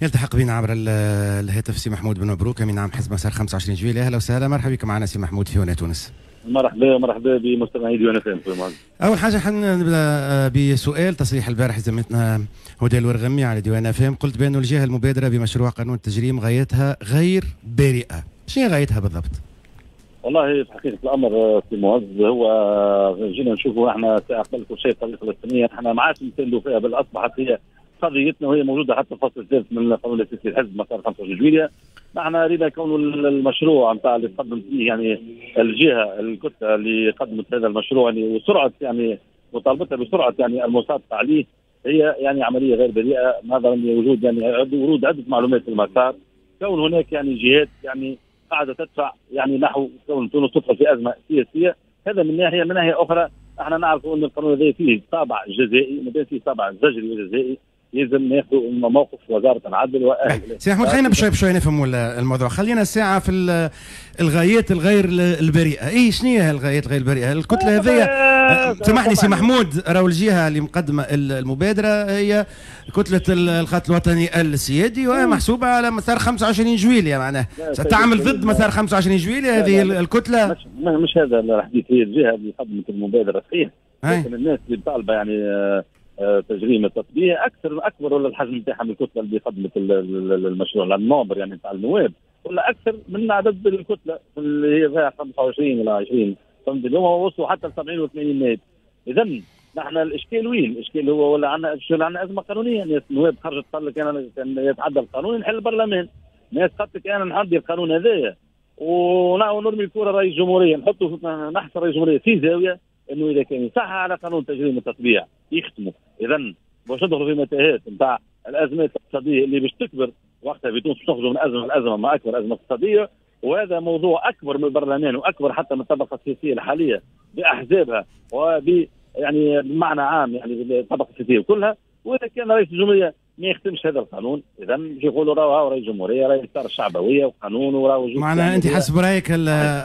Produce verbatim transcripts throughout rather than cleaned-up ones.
يلتحق بنا عبر الهاتف سي محمود بن مبروك امين عام حزب مسار خمسة وعشرين جويلية. اهلا وسهلا، مرحبا بك معنا سي محمود في هنا تونس. مرحبا مرحبا بمستمعي ديوان اف ام. اول حاجة حنبدا بسؤال تصريح البارح زميلتنا هدى الورغمي على ديوان اف ام، قلت بأن الجهة المبادرة بمشروع قانون التجريم غايتها غير بريئة، شنو غايتها بالضبط؟ والله في حقيقة الامر سي معز، هو جينا نشوفوا احنا قبل كل شيء القضية الفلسطينية احنا ما عادش نساندوا فيها، بل اصبحت هي قضيتنا وهي موجودة حتى الفصل الثالث من القانون الاساسي للحزب مسار خمسة وعشرين جويلية. نحن رينا كون المشروع نتاع اللي قدمت فيه يعني الجهة الكتلة اللي قدمت هذا المشروع يعني وسرعة يعني مطالبتها بسرعة يعني المصادقة عليه هي يعني عملية غير بريئة، نظرا لوجود يعني ورود عده معلومات في المسار، كون هناك يعني جهات يعني قاعدة تدفع يعني نحو كون تونس تدخل في ازمة سياسية. هذا من ناحية، من ناحية اخرى احنا نعرف ان القانون هذا فيه طابع جزائي، ما فيه طابع زجري وجزائي، لازم ناخذوا موقف وزارة العدل واهل. سي محمود خلينا بشوي بشوي نفهموا الموضوع، خلينا الساعة في الغايات الغير البريئة، اي شنو هي الغايات الغير البريئة؟ الكتلة هذيا سامحني سي محمود، راهو الجهة اللي مقدمه المبادرة هي كتلة الخط الوطني السيادي وهي محسوبة على مسار خمسة وعشرين جويلية، معناها ستعمل ضد مسار خمسة وعشرين جويلية هذه الكتلة. مش, مش هذا الحديث، هي الجهة اللي قدمت المبادرة صحيح، لكن الناس اللي طالبه يعني تجريم التطبيع اكثر اكبر ولا الحجم نتاعها من الكتلة اللي قدمت المشروع، لان ال nombre يعني نتاع النواب ولا اكثر من عدد الكتلة اللي هي فيها خمسة وعشرين ولا عشرين، فهمت؟ اليوم وصلوا حتى ل سبعين وثمانين نائب. اذا نحن الاشكال وين؟ الاشكال هو ولا عندنا عندنا ازمة قانونية، يعني النواب خرجت قال لك انا يتعدى القانون نحل البرلمان، ناس قالت لك انا نعدي القانون هذايا ونرمي الكره رئيس الجمهورية، نحطوا نحصر رئيس الجمهورية في زاوية انه اذا كان يصح على قانون تجريم التطبيع يختموا. اذا باش ندخلوا في متاهات نتاع الازمات الاقتصادية اللي باش تكبر وقتها في تونس، باش نخرجوا من ازمة لازمه مع اكبر ازمة اقتصادية، وهذا موضوع اكبر من البرلمان واكبر حتى من الطبقة السياسية الحالية باحزابها وب يعني بمعنى عام يعني الطبقة السياسية كلها. واذا كان رئيس الجمهورية ما يختمش هذا القانون، اذا باش يقولوا راهو رئيس الجمهورية رئيس الدار الشعبوية وقانون وراهو. معناها انت حسب رايك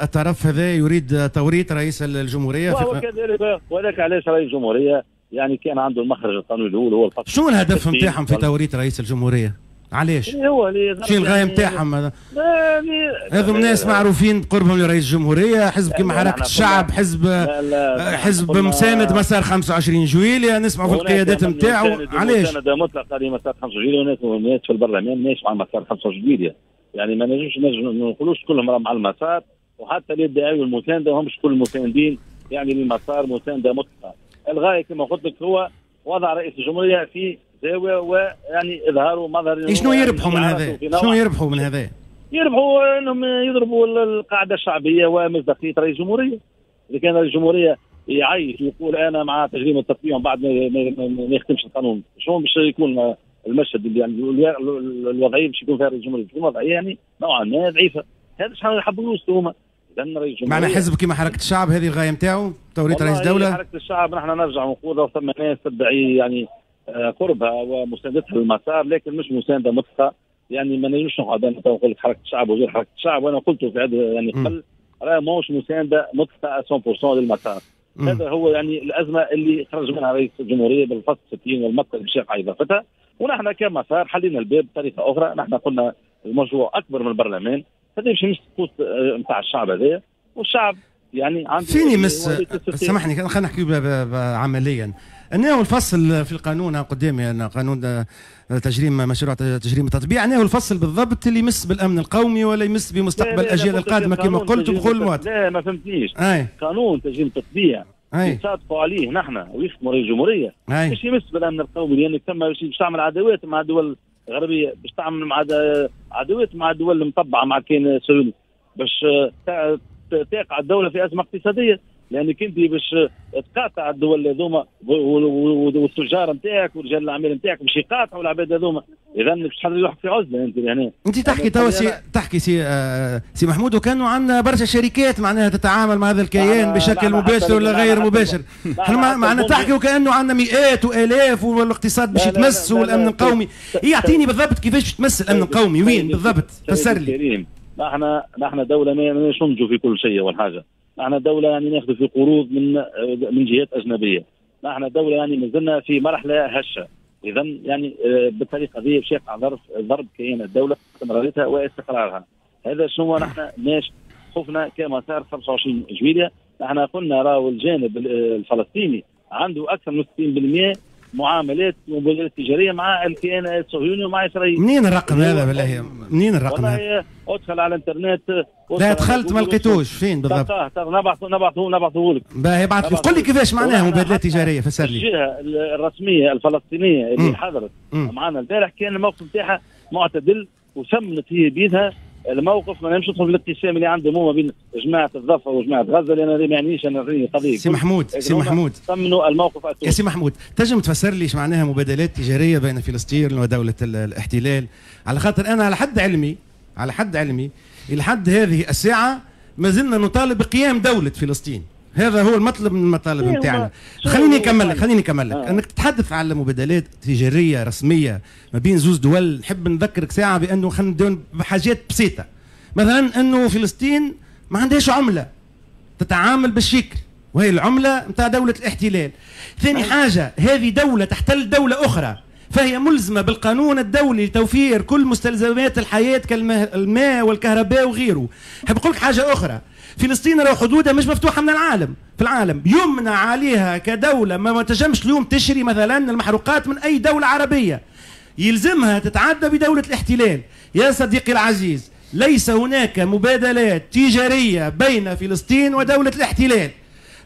الطرف هذا يريد توريط رئيس الجمهورية وهو كذلك، وذاك علاش رئيس الجمهورية يعني كان عنده المخرج القانوني الاول هو الفصل. شنو الهدف نتاعهم في توريط رئيس الجمهورية؟ علاش؟ هو شنو الغاية نتاعهم؟ هذو ناس معروفين بقربهم لرئيس الجمهورية، حزب كيما حركة الشعب، حزب لا حزب مساند مسار خمسة وعشرين جويلية، نسمعوا في القيادات نتاعو. علاش؟ مساندة مطلقه لمسار خمسة وعشرين جويلية، وناس في البرلمان ماشي مع مسار خمسة وعشرين جويلية، يعني ما نجمش ما نقولوش كلهم راهم مع المسار، وحتى اللي يدعيوا المساندة همش كل المساندين يعني للمسار مساندة مطلقه. الغاية كما قلت لك هو وضع رئيس الجمهورية في زاوية ويعني اظهاره مظهر. شنو يربحوا من هذا؟ شنو يربحوا من هذا؟ يربحوا انهم يضربوا القاعدة الشعبية ومصداقيه رئيس الجمهورية. اذا كان رئيس الجمهورية يعيش ويقول انا مع تجريم التطبيع ومن بعد ما يختمش القانون، شنو باش يكون المشهد اللي يعني الوضعية باش يكون فيها رئيس الجمهورية؟ تكون وضعية يعني نوعا ما ضعيفة. هذا شحال يحبوا يوصلوا هما. معنى حزب كيما حركة الشعب هذه الغاية نتاعو توريط رئيس دولة؟ حركة الشعب نحن نرجع ونقول ثم ناس تدعي يعني قربها ومساندتها للمسار، لكن مش مساندة مطلقه. يعني ما نجمش نقعد انا نقول لك حركة الشعب وغير حركة الشعب، وانا قلت في عدة يعني قبل راه ماهوش مساندة مطلقه مية بالمية للمسار. مم. هذا هو يعني الازمة اللي خرج منها رئيس الجمهورية بالفصل ستين والمقتل بشاق اضافتها، ونحن كمسار حلينا الباب بطريقة اخرى. نحن قلنا المشروع اكبر من البرلمان، هذا باش يمس القوت نتاع الشعب هذايا، والشعب يعني عنده فيني مس. سامحني خلينا نحكي عمليا. أنه الفصل في القانون قدامي أنا قانون تجريم مشروع تجريم التطبيع، أنه الفصل بالضبط اللي يمس بالأمن القومي ولا يمس بمستقبل الأجيال القادمة كما قلت وبقول المواطن. لا ما فهمتنيش. قانون تجريم التطبيع يصادقوا عليه نحن ويخدموا رئيس الجمهورية باش يمس بالأمن القومي، لأنك ثم باش تعمل عداوات مع الدول الغربية، باش تعمل مع عداوات مع الدول المطبعة مع كاين السعودي، باش تقع الدولة في أزمة اقتصادية، لانك انت باش تقاطع الدول هذوما والتجار نتاعك ورجال الاعمال نتاعك باش يقاطعوا العباد هذوما، اذا باش تحل روحك في عزله انت لهنا. انت تحكي توا سي تحكي سي آه سي محمود، وكانوا عندنا برشا شركات معناها تتعامل مع هذا الكيان بشكل مباشر ولا غير مباشر، احنا معناها تحكي وكانه عندنا مئات والاف والاقتصاد باش يتمس والامن القومي. يعطيني بالضبط كيفاش تمس الامن القومي وين بالضبط؟ فسر لي. نحن نحن دولة ما ننتجوا في كل شيء اول حاجة. نحن دولة يعني ناخذ في قروض من من جهات أجنبية. نحن دولة يعني مازلنا في مرحلة هشة. اذا يعني بالطريقة هذه باش يقع ضرب ضرب كيان الدولة استمراريتها واستقرارها. هذا شنو نحن ماش خفنا كمسار خمسة وعشرين جويلية. نحن قلنا راهو الجانب الفلسطيني عنده اكثر من ستين بالمئة معاملات ومبادلات تجارية مع الكيان الصهيوني ومع اسرائيل. منين الرقم هذا بالله؟ منين الرقم هذا؟ ادخل على الانترنت. لا دخلت ما لقيتوش، فين بالضبط؟ نبعثه نبعثه نبعثه لك. باهي ابعث لي، قل لي كيفاش معناها مبادلات تجارية، فسر لي. الجهة الرسمية الفلسطينية اللي حضرت معنا البارح كان الموقف نتاعها معتدل وسمنت هي بيدها الموقف. ما نمشي ندخل في الانقسام اللي عندهم هما بين جماعة الضفة وجماعه غزة، لان هذا ما يعنيش انا قضية. سي محمود، سي محمود، ثمنوا الموقف. يا سي محمود، تنجم تفسر لي ايش معناها مبادلات تجارية بين فلسطين ودولة الاحتلال؟ على خاطر انا على حد علمي، على حد علمي الى حد هذه الساعة ما زلنا نطالب بقيام دولة فلسطين. هذا هو المطلب من المطالب نتاعنا. خليني نكمل لك، خليني نكمل لك. آه. انك تتحدث على مبادلات تجارية رسمية ما بين زوز دول، نحب نذكرك ساعة بانه خلينا نبداو بحاجات بسيطة. مثلا انه فلسطين ما عندهاش عمله، تتعامل بالشيكل وهي العملة نتاع دولة الاحتلال. ثاني حاجة، هذه دولة تحتل دولة اخرى، فهي ملزمة بالقانون الدولي لتوفير كل مستلزمات الحياة كالماء والكهرباء وغيره. نحب نقول لك حاجة اخرى، فلسطين راهو حدودها مش مفتوحة من العالم، في العالم يمنع عليها كدولة، ما تنجمش اليوم تشري مثلا المحروقات من اي دولة عربية، يلزمها تتعدى بدولة الاحتلال. يا صديقي العزيز، ليس هناك مبادلات تجارية بين فلسطين ودولة الاحتلال.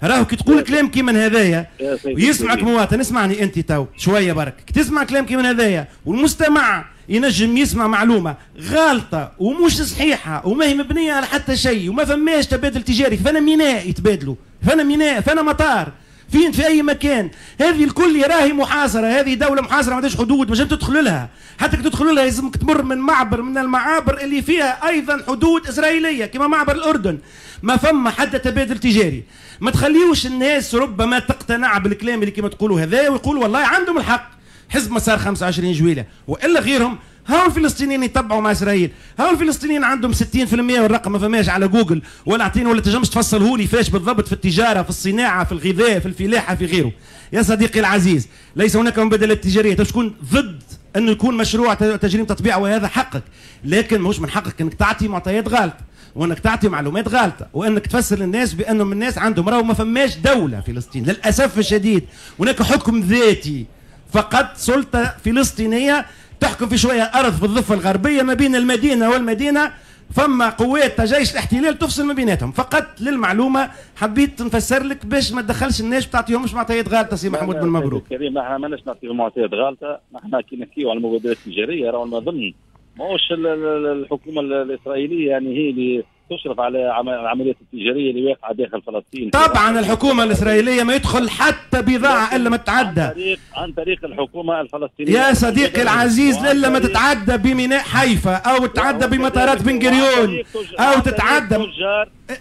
راهو كي تقول كلام كيما هذايا ويسمعك مواطن، اسمعني انت تو شوية برك، كي تسمع كلام كيما هذايا والمستمع ينجم يسمع معلومة غالطه ومش صحيحه وما هي مبنية على حتى شيء وما فماش تبادل تجاري، فانا ميناء يتبادلوا، فانا ميناء، فانا مطار، فين في اي مكان، هذه الكل راهي محاصرة، هذه دولة محاصرة ما عندهاش حدود، ما تدخل لها، حتى كي تدخل لها لازمك تمر من معبر من المعابر اللي فيها ايضا حدود اسرائيلية كما معبر الاردن. ما فما حتى تبادل تجاري. ما تخليوش الناس ربما تقتنع بالكلام اللي كما تقولوا هذا ويقولوا والله عندهم الحق، حزب مسار خمسة وعشرين جويلة والا غيرهم، هاو الفلسطينيين يتبعوا مع اسرائيل، هاو الفلسطينيين عندهم ستين بالمئة والرقم ما فماش على جوجل ولا اعطيني ولا تنجمش تفصله لي فاش بالضبط في التجارة، في الصناعة، في الغذاء، في الفلاحة، في غيره. يا صديقي العزيز، ليس هناك مبادلات تجارية. تكون ضد انه يكون مشروع تجريم تطبيع وهذا حقك، لكن ماهوش من حقك انك تعطي معطيات غلط وانك تعطي معلومات غلطه وانك تفسر للناس بانهم الناس عندهم، راهو ما فماش دولة فلسطين للاسف الشديد، هناك حكم ذاتي فقط، سلطة فلسطينية تحكم في شوية ارض في الضفة الغربية ما بين المدينة والمدينة، فما قوات جيش الاحتلال تفصل ما بيناتهم. فقط للمعلومة حبيت نفسر لك باش ما تدخلش الناس تعطيهمش معطيات غالطه. سي محمود بن مبروك. كريم، احنا ماناش نعطيهم معطيات غالطه، نحن كي نحكيو على المبادلات التجارية راهو ما ظن ماهوش الحكومة الاسرائيلية يعني هي اللي تشرف على العمليات التجارية اللي واقعه داخل فلسطين. طبعا الحكومة الاسرائيلية ما يدخل حتى بضاعة الا ما تتعدى عن طريق عن طريق الحكومة الفلسطينية. يا صديقي العزيز، الا ما تتعدى بميناء حيفا او تتعدى بمطارات بن غوريون او تتعدى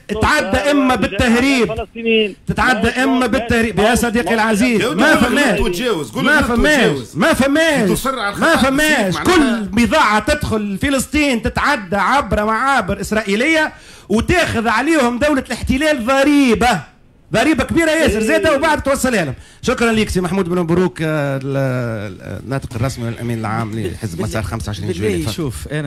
تتعدى اما بالتهريب، تتعدى اما بالتهريب. يا صديقي العزيز، ما فماش ما فماش ما فماش ما فماش كل بضاعة تدخل فلسطين تتعدى عبر معابر اسرائيلية وتاخذ عليهم دولة الاحتلال ضريبة، ضريبة كبيرة ياسر زاده، وبعد توصلها لهم. شكرا لك سي محمود بن مبروك، الناطق الرسمي والامين العام لحزب مسار خمسة وعشرين جويلية. شوف انا